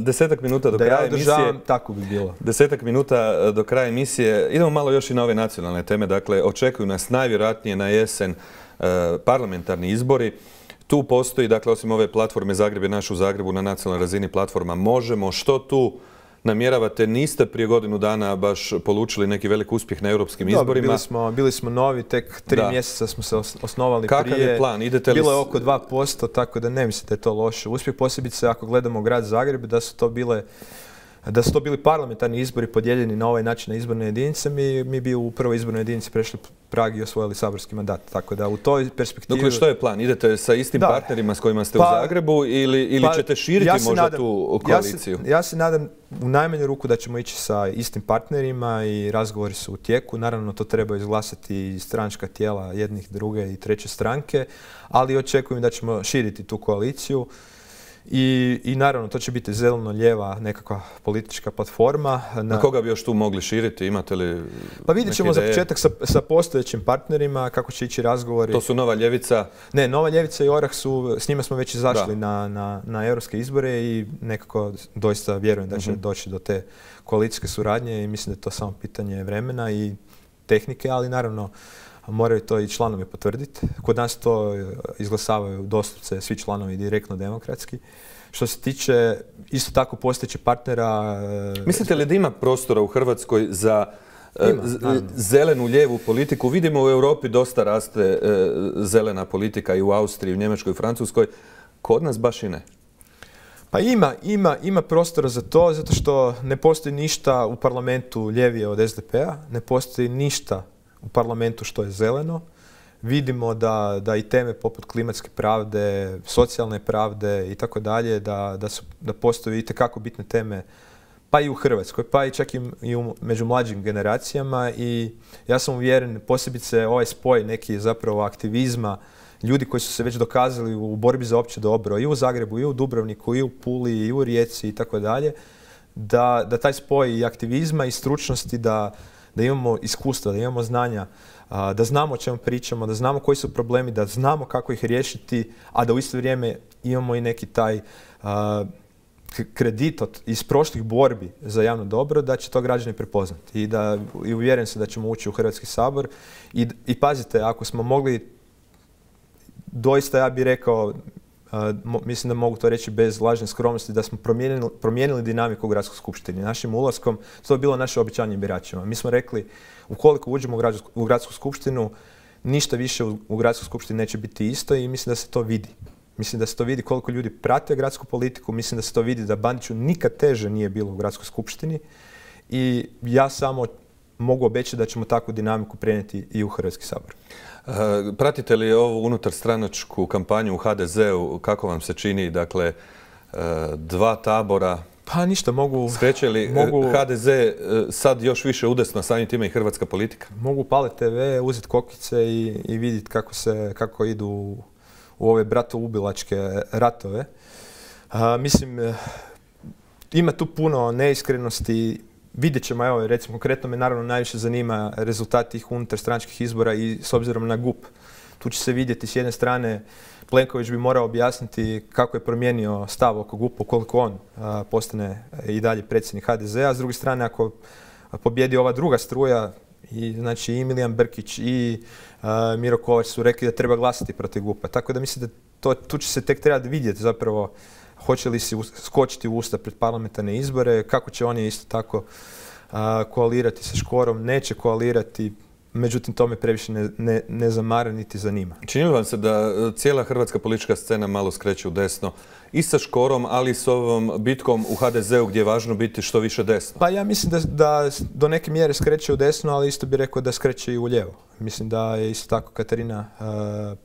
desetak minuta do da kraja ja održavam, emisije. Tako bi bilo. Desetak minuta do kraja emisije. Idemo malo još i na ove nacionalne teme. Dakle, očekuju nas najvjerojatnije na jesen uh, parlamentarni izbori. Tu postoji, dakle, osim ove platforme Zagreb je naš u Zagrebu na nacionalnoj razini platforma Možemo. Što tu namjeravate. Niste prije godinu dana baš polučili neki velik uspjeh na europskim Dobro, izborima. Bili smo, bili smo novi, tek tri da. mjeseca smo se osnovali Kakav prije. Kakav je plan? Idete li... Bilo je oko dva posto, tako da ne mislim da je to loše uspjeh. Posebice ako gledamo grad Zagreb, da su to bile da su to bili parlamentarni izbori podijeljeni na ovaj način na izborne jedinice, mi, mi bi u prvoj izbornoj jedinici prešli Prag i osvojili saborski mandat. Tako da u toj perspektivi... Dakle, što je plan? Idete sa istim da. partnerima s kojima ste pa, u Zagrebu ili, ili pa, ćete širiti ja možda nadam, tu koaliciju? Ja se, ja se nadam u najmanju ruku da ćemo ići sa istim partnerima i razgovori su u tijeku. Naravno, to treba izglasati i stranačka tijela jednih, druge i treće stranke, ali očekujem da ćemo širiti tu koaliciju. I, I naravno, to će biti zeleno-lijeva nekakva politička platforma. Na, Na koga bi još tu mogli širiti? Imate li Pa vidjet ćemo za početak sa, sa postojećim partnerima kako će ići razgovori. To su Nova ljevica? Ne, Nova ljevica i Orah su, s njima smo već izašli na, na, na europske izbore i nekako doista vjerujem da će uh-huh. doći do te koalicijske suradnje i mislim da je to samo pitanje vremena i tehnike, ali naravno moraju to i članovi potvrditi. Kod nas to izglasavaju doslovce svi članovi direktno demokratski. Što se tiče isto tako postojećih partnera... Mislite li da ima prostora u Hrvatskoj za ima, zelenu lijevu politiku? Vidimo u Europi dosta raste zelena politika i u Austriji, u Njemačkoj, u Francuskoj. Kod nas baš i ne. Pa ima, ima, ima prostora za to, zato što ne postoji ništa u parlamentu ljevije od S D P-a, ne postoji ništa u parlamentu što je zeleno. Vidimo da, da i teme poput klimatske pravde, socijalne pravde i tako dalje, da, da, su, da postoje itekako bitne teme pa i u Hrvatskoj, pa i čak i, i u, među mlađim generacijama i ja sam uvjeren, posebice ovaj spoj neki zapravo aktivizma, ljudi koji su se već dokazali u borbi za opće dobro i u Zagrebu, i u Dubrovniku, i u Puli, i u Rijeci i tako dalje, da, da taj spoj i aktivizma i stručnosti, da da imamo iskustva, da imamo znanja, da znamo o čemu pričamo, da znamo koji su problemi, da znamo kako ih riješiti, a da u isto vrijeme imamo i neki taj kredit od, iz prošlih borbi za javno dobro, da će to građani prepoznati i, da, i uvjeren se da ćemo ući u Hrvatski sabor. I, i pazite, ako smo mogli, doista ja bih rekao, Uh, mislim da mogu to reći bez lažne skromnosti, da smo promijenili, promijenili dinamiku u gradskoj skupštini. Našim ulaskom, to je bilo naše obećanje biračima. Mi smo rekli, ukoliko uđemo u gradsku, u gradsku skupštinu, ništa više u, u gradskoj skupštini neće biti isto i mislim da se to vidi. Mislim da se to vidi koliko ljudi prate gradsku politiku, mislim da se to vidi da Bandiću nikad teže nije bilo u gradskoj skupštini i ja samo mogu obećati da ćemo takvu dinamiku prenijeti i u Hrvatski sabor. Pratite li ovu unutarstranačku kampanju u H D Z-u? Kako vam se čini? Dakle, dva tabora. Pa ništa, mogu... Skreće li mogu, H D Z sad još više udesno, samim time i hrvatska politika? Mogu paliti te ve, uzeti kokice i, i vidjeti kako, se, kako idu u, u ove bratoubilačke ratove. A, mislim, ima tu puno neiskrenosti. Vidjet ćemo, evo, recimo, konkretno me naravno najviše zanima rezultat tih unutarstranačkih izbora i s obzirom na G U P. Tu će se vidjeti s jedne strane, Plenković bi morao objasniti kako je promijenio stav oko G U P-a, koliko on a, postane i dalje predsjednik H D Z-a. S druge strane, ako pobjedi ova druga struja, i, znači i Milijan Brkić i a, Miro Kovač su rekli da treba glasati protiv G U P-a. Tako da mislim da to, tu će se tek trebati vidjeti zapravo hoće li se skočiti u usta pred parlamentarne izbore, kako će oni isto tako a, koalirati sa Škorom, neće koalirati, međutim to me previše ne, ne, ne zamara niti zanima. Čini li vam se da cijela hrvatska politička scena malo skreće u desno i sa Škorom, ali i s ovom bitkom u H D Z-u gdje je važno biti što više desno? Pa ja mislim da, da do neke mjere skreće u desno, ali isto bih rekao da skreće i u lijevo. Mislim da je isto tako Katarina uh,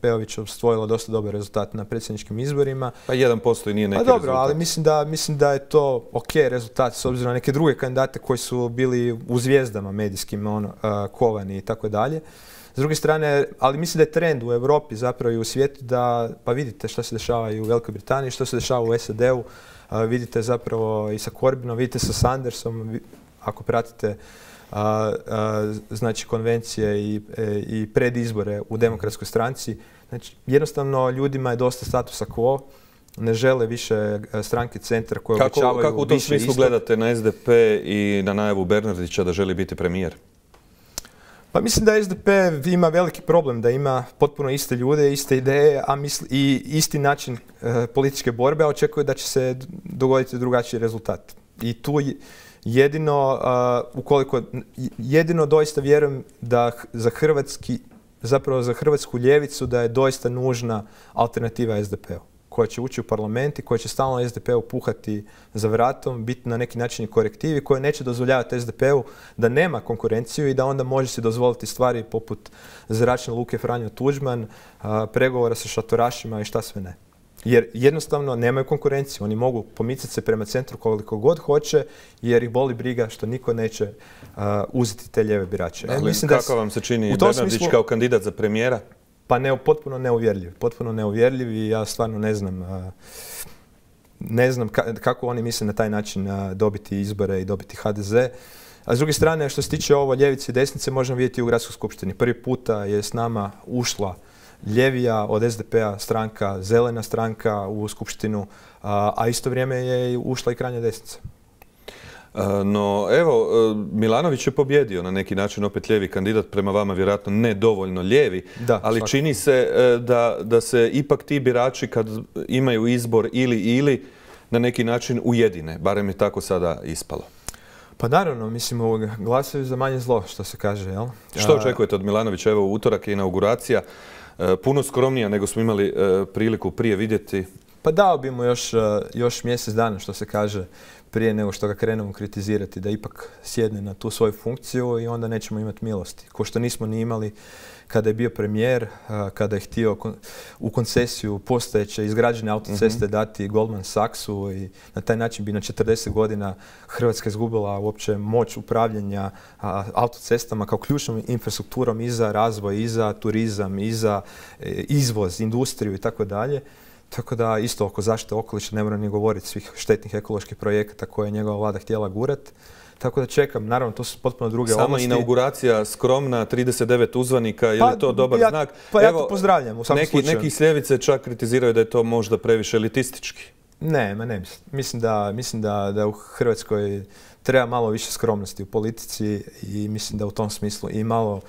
Peović osvojila dosta dobar rezultat na predsjedničkim izborima. Pa jedan posto i nije neki pa dobro, rezultat. Ali mislim da, mislim da je to ok rezultat s obzirom na neke druge kandidate koji su bili u zvijezdama medijskim, ono, uh, Kovani i tako dalje. S druge strane, ali mislim da je trend u Europi zapravo i u svijetu da, pa vidite što se dešava i u Velikoj Britaniji, što se dešava u S A D-u, uh, vidite zapravo i sa Corbynom, vidite sa Sandersom, ako pratite A, a, znači konvencije i, e, i predizbore u demokratskoj stranci. Znači, jednostavno ljudima je dosta statusa quo, ne žele više stranke centra koje kako, obećavaju više. Kako u tom smislu isto gledate na S D P i na najavu Bernardića da želi biti premijer? Pa mislim da S D P ima veliki problem, da ima potpuno iste ljude, iste ideje, a misli, i isti način e, političke borbe, a očekuje da će se dogoditi drugačiji rezultat. I tu jedino, uh, ukoliko, jedino doista vjerujem da za hrvatski, zapravo za hrvatsku ljevicu da je doista nužna alternativa es de pe u, koja će ući u parlament i koja će stalno es de pe u puhati za vratom, biti na neki način i korektivi, koja neće dozvoljavati es de pe u da nema konkurenciju i da onda može se dozvoliti stvari poput zračne luke Franjo Tuđman, a, pregovora sa šatorašima i šta sve ne. Jer jednostavno nemaju konkurenciju. Oni mogu pomicati se prema centru koliko god hoće jer ih boli briga što niko neće uh, uzeti te lijeve birače. Ali, e, mislim kako da vam se čini Bernardić smislu, kao kandidat za premijera? Pa ne, potpuno neuvjerljiv. Potpuno neuvjerljiv i ja stvarno ne znam, uh, ne znam ka, kako oni misle na taj način uh, dobiti izbore i dobiti ha de ze. A s druge strane, što se tiče ovo ljevice i desnice, možemo vidjeti u Gradskoj skupštini. Prvi puta je s nama ušla ljevija od es de pe a stranka, zelena stranka u skupštinu, a, a isto vrijeme je ušla i krajnja desnica. No evo, Milanović je pobjedio na neki način, opet lijevi kandidat, prema vama vjerojatno ne dovoljno lijevi, da, ali svakako. Čini se da, da se ipak ti birači kad imaju izbor ili ili na neki način ujedine, barem je tako sada ispalo. Pa naravno, mislim, glasaju za manje zlo, što se kaže, jel? Što očekujete od Milanovića? Evo, u utorak je inauguracija, puno skromnija nego smo imali priliku prije vidjeti. Pa dao bi mu još, još mjesec dana, što se kaže, prije nego što ga krenemo kritizirati, da ipak sjedne na tu svoju funkciju i onda nećemo imati milosti. Ko što nismo ni imali kada je bio premijer, kada je htio u koncesiju postojeće izgrađene autoceste dati Goldman Sachsu i na taj način bi na četrdeset godina Hrvatska izgubila uopće moć upravljanja autocestama kao ključnom infrastrukturom i za razvoj, i za turizam, i za izvoz, industriju i tako dalje. Tako da isto oko zaštite okoliša ne moram ni govoriti svih štetnih ekoloških projekata koje je njegova vlada htjela gurati. Tako da čekam, naravno to su potpuno druge Sama ovlasti. Sama inauguracija skromna, trideset devet uzvanika, je li pa, to dobar ja, znak? Pa ja Evo, to pozdravljam u svakom neki, slučaju. Neki s ljevice čak kritiziraju da je to možda previše elitistički. Ne, ma ne mislim. Mislim da, mislim da, da u Hrvatskoj treba malo više skromnosti u politici i mislim da u tom smislu i malo,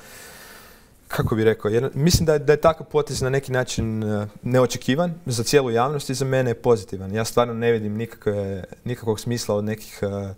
kako bih rekao, jer mislim da je, da je takav potez na neki način neočekivan za cijelu javnost i za mene je pozitivan. Ja stvarno ne vidim nikakve, nikakvog smisla od nekih uh,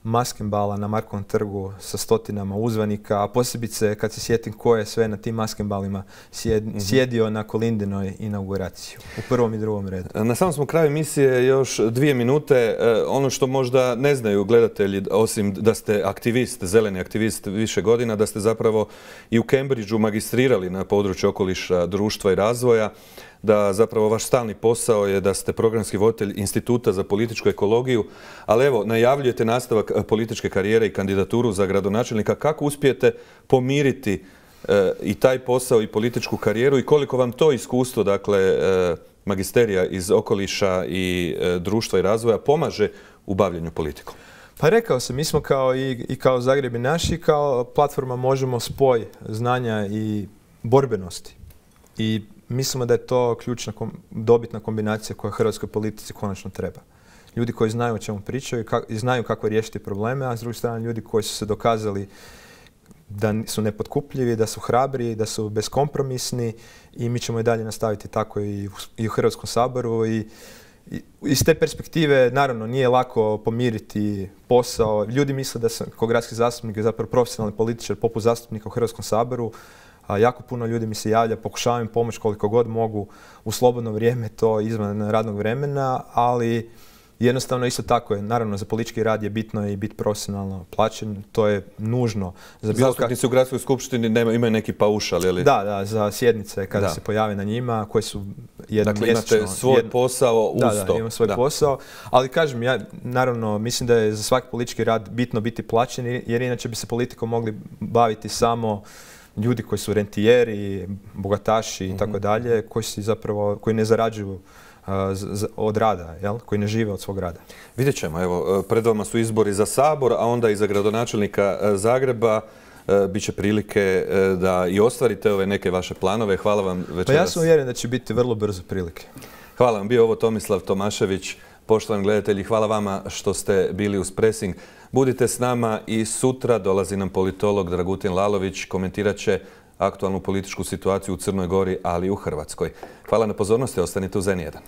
maskembala na Markovom trgu sa stotinama uzvanika, a posebice kad se sjetim ko je sve na tim maskembalima sjed, mm-hmm. sjedio na Kolindinoj inauguraciji u prvom i drugom redu. Na samom smo kraju emisije još dvije minute. Ono što možda ne znaju gledatelji, osim da ste aktivist, zeleni aktivist više godina, da ste zapravo i u Cambridgeu magistrirali na području okoliša, društva i razvoja, da zapravo vaš stalni posao je da ste programski voditelj Instituta za političku ekologiju, ali evo, najavljujete nastavak političke karijere i kandidaturu za gradonačelnika. Kako uspijete pomiriti e, i taj posao i političku karijeru i koliko vam to iskustvo, dakle, e, magisterija iz okoliša i e, društva i razvoja pomaže u bavljenju politikom? Pa rekao sam, mi smo kao i, i kao Zagreb i naši, kao platforma možemo spoj znanja i borbenosti. I mislimo da je to ključna, dobitna kombinacija koja hrvatskoj politici konačno treba. Ljudi koji znaju o čemu pričaju i znaju kako riješiti probleme, a s druge strane ljudi koji su se dokazali da su nepotkupljivi, da su hrabri, da su beskompromisni i mi ćemo i dalje nastaviti tako i u, i u Hrvatskom saboru. I, i iz te perspektive, naravno, nije lako pomiriti posao. Ljudi misle da sam kao gradski zastupnik i zapravo profesionalni političar poput zastupnika u Hrvatskom saboru. A jako puno ljudi mi se javlja, pokušavam im pomoći koliko god mogu u slobodno vrijeme, to izvan radnog vremena, ali jednostavno isto tako je. Naravno, za politički rad je bitno i biti profesionalno plaćen, to je nužno. Za Zastupnici u Gradskoj skupštini nema, imaju neki paušal, ili? Da, da, za sjednice kada da. se pojave na njima, koje su jednom dakle, mjesečno. Dakle, imate svoj jed... posao uz da, to. Da, imam svoj da. posao, ali kažem, ja naravno mislim da je za svaki politički rad bitno biti plaćen, jer inače bi se politikom mogli baviti samo ljudi koji su rentijeri, bogataši i tako dalje, koji si zapravo, koji ne zarađuju uh, z, od rada, jel? Koji ne žive od svog rada. Vidjet ćemo, evo, pred vama su izbori za Sabor, a onda i za gradonačelnika Zagreba. Uh, Biće prilike uh, da i ostvarite ove neke vaše planove. Hvala vam večeras. Pa ja sam uvjeren da će biti vrlo brzo prilike. Hvala vam. Bio ovo Tomislav Tomašević. Poštovani gledatelji, hvala vama što ste bili uz Pressing. Budite s nama i sutra dolazi nam politolog Dragutin Lalović, komentirat će aktualnu političku situaciju u Crnoj Gori, ali i u Hrvatskoj. Hvala na pozornosti, ostanite uz en jedan.